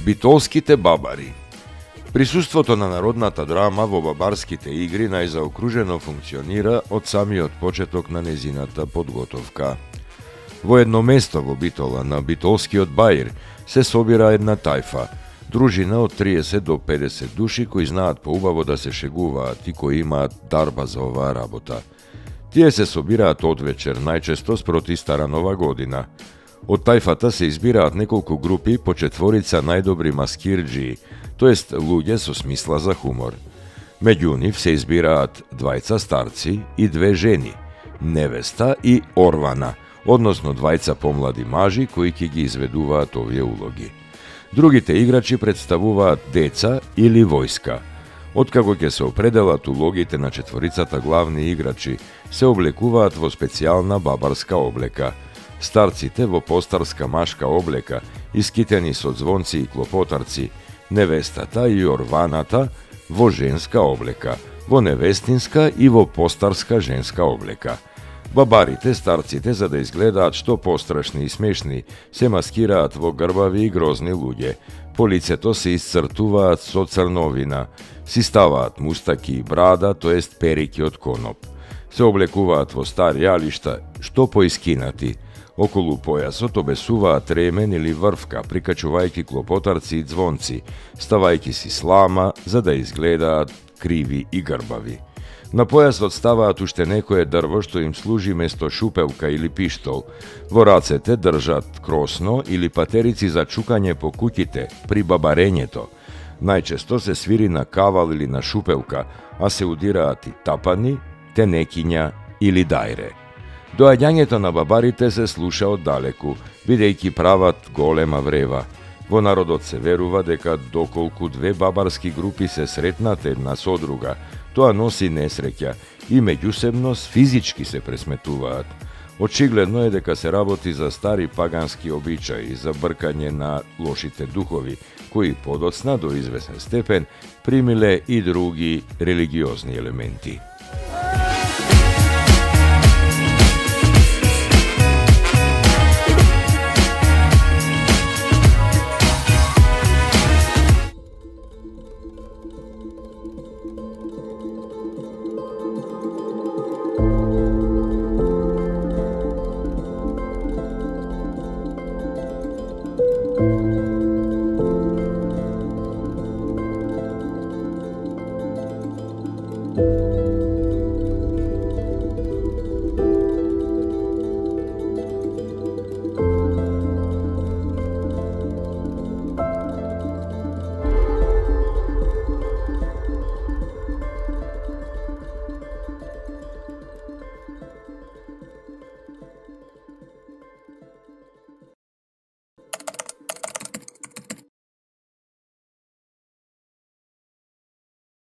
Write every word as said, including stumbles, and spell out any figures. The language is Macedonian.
Битолските бабари. Присуството на народната драма во бабарските игри најзаокружено функционира од самиот почеток на незината подготовка. Во едно место во Битола, на Битолскиот баир, се собира една тајфа, дружина од триесет до педесет души кои знаат поубаво да се шегуваат и кои имаат дарба за оваа работа. Тие се собираат од вечер, најчесто спроти Стара Нова година. Од тајфата се избираат неколку групи по четворица најдобри маскирџии, тоест луѓе со смисла за хумор. Меѓу нив се избираат двајца старци и две жени, невеста и орвана, односно двајца помлади мажи кои ќе ги изведуваат овие улоги. Другите играчи представуваат деца или војска. Откако ќе се определат улогите на четворицата главни играчи, се облекуваат во специјална бабарска облека. Старците во постарска машка облека, искитени со звонци и клопотарци, невестата и орваната во женска облека, во невестинска и во постарска женска облека. Бабарите, старците, за да изгледаат што пострашни и смешни, се маскираат во грбави и грозни луѓе. По лицето се исцртуваат со црновина, си ставаат мустаки и брада, тоест перики од коноп. Се облекуваат во стари алишта, што поискинати. Околу појасот обесуваат ремен или врвка, прикачувајќи клопотарци и звонци, ставајќи си слама за да изгледаат криви и грбави. На појасот ставаат уште некое дрво што им служи место шупелка или пиштол. Во рацете држат кросно или патерици за чукање по куќите при бабарењето. Најчесто се свири на кавал или на шупелка, а се удираат и тапани, тенекиња или дајре. Доаѓањето на бабарите се слуша оддалеку, бидејќи прават голема врева. Во народот се верува дека доколку две бабарски групи се сретнат една со друга, тоа носи несреќа и меѓусебно физички се пресметуваат. Очигледно е дека се работи за стари пагански обичаи, за бркање на лошите духови, кои подоцна до извесен степен примиле и други религиозни елементи.